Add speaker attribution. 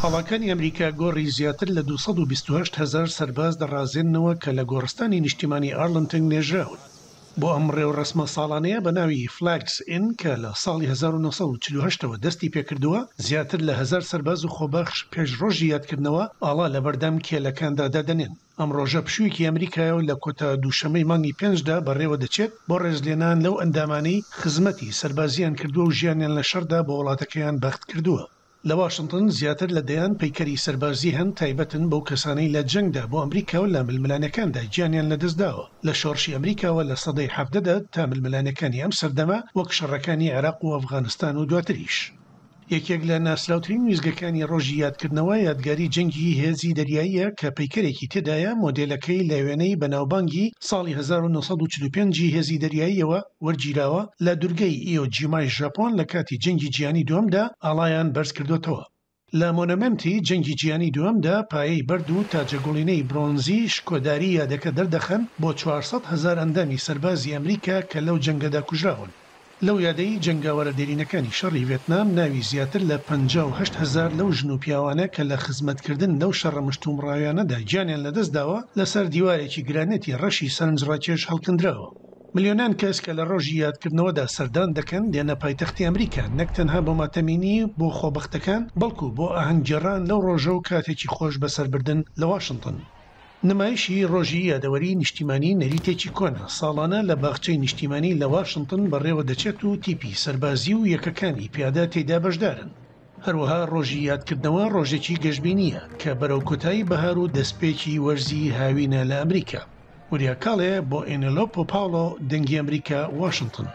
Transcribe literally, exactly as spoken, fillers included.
Speaker 1: ئاڵاکانی ئەمریکا گۆڕی زیاتر لە دوو سەد و بیست و هەشت هەزار سەرباز دەڕازێننەوە کە لە گۆڕستانی نیشتیمانی ئارلنتن نێژراون. بۆ ئەم ڕێوڕەسمە ساڵانەیە بە ناوی Flags In کە لە ساڵی هەزار و نۆ سەد و چل و هەشت ەوە دەستی پێکردووە، زیاتر لە هەزار سەرباز و خۆبەخش پێش ڕۆژی یادکردنەوە ئاڵا لەبەردەم کێلەکاندا دادەنێن. ئەم ڕۆژە پشوویەکی ئەمریکایە و لە کۆتا دووشەمەی مانگی پێنجدا بەڕێوە دەچێت بۆ ڕێزلێنان لەو ئەندامانەی خزمەتی سەربازیان کردووە و ژیانیان لە شەڕدا بۆ وڵاتەکەیان بەخت کردووە. لە واشنتن زیاتر لە دەیان پەیکەری سەربازی هەن تایبەتن بەو کەسانەی لە جەنگدا بۆ ئەمریکا و لە ململانێکاندا گیانیان لەدەستداوە، لە شۆڕشی ئەمریکاوە لە سەدەی حەڤدەدا تا ململانێکانی ئەم سەردەمە وەک شەڕەکانی عێراق و ئەفغانستان و دواتریش. یەکێک لە ناسراوترین ویزگەکانی ڕۆژی یادکردنەوە یادگاری جەنگی هێزی دەریاییە کە پەیکەرێکی تێدایە مۆدێلەکەی لە وێنەی بەناوبانگی ساڵی هەزار و نۆ سەد و چل و پێنج هێزی دەریاییەوە وەرگیراوە لە دوورگەی ئیۆ جیمای ژاپۆن لە کاتی جەنگی جیهانی دووەمدا ئاڵایان بەرز کردوتەوە. لە مۆنۆمێنتی جەنگی جیهانی دووەمدا پایەی بەرد و تاجەگوڵینەی برۆنزی شکۆداری یادەکە دەردەخەن بۆ چوار سەد هەزار ئەندامی سەربازی ئەمریکا کە لەو جەنگەدا کوژراون. لەو یادەی جەنگاوەرە دێرینەکانی شەڕی ڤێتنام ناوی زیاتر لە پەنجا و هەشت هەزار لەو ژن و پیاوانە کە لە خزمەتکردن لەو شەڕە مشتومڕاویانەدا گیانیان لەدەستداوە لەسەر دیوارێکی گرانێتی ڕەشی سەرنجڕاکێش هەڵکەندراوە. ملیۆنان کەس کە لە ڕۆژی یادکردنەوەدا سەردان دەکەن دێنە پایتەختی ئەمریکا، نەک تەنها بۆ ماتەمینی بۆ خۆبەختەکان، بەڵکو بۆ ئاهەنگگێڕان لەو ڕۆژە و کاتێکی خۆش بەسەربردن لە واشنتن. نمایشی ڕۆژی یادەوەری نیشتیمانی نەریتێکی کۆنە، ساڵانە لە باخچەی نیشتیمانی لە واشنتن بەڕێوە دەچێت و تیپی سەربازی و یەکەکانی پیادە تێدا بەشدارن. هەروەها ڕۆژی یادکردنەوە ڕۆژێکی گەشبینیە کە بەرەو کۆتایی بەهار و دەستپێکی وەرزی هاوینە لە ئەمریکا. وریا کاڵێ بۆ ئێنێلۆپۆ پاولۆ، دەنگی ئەمریکا، واشنتن.